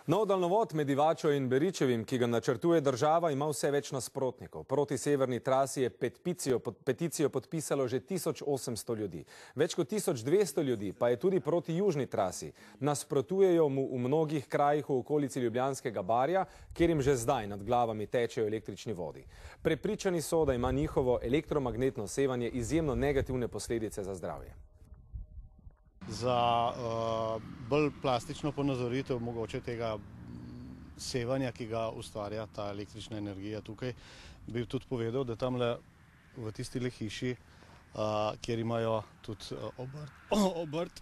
Nov daljnovod med Divačo in Beričevim, ki ga načrtuje država, ima vse več nasprotnikov. Proti severni trasi je peticijo podpisalo že 1800 ljudi. Več kot 1200 ljudi pa je tudi proti južni trasi. Nasprotujejo mu v mnogih krajih v okolici Ljubljanskega barja, kjer jim že zdaj nad glavami tečejo električni vodi. Prepričani so, da ima njihovo elektromagnetno sevanje izjemno negativne posledice za zdravje. Za bolj plastično ponazoritev mogoče tega sevanja, ki ga ustvarja ta električna energija tukaj, bi tudi povedal, da tamle v tistile hiši, kjer imajo tudi obrt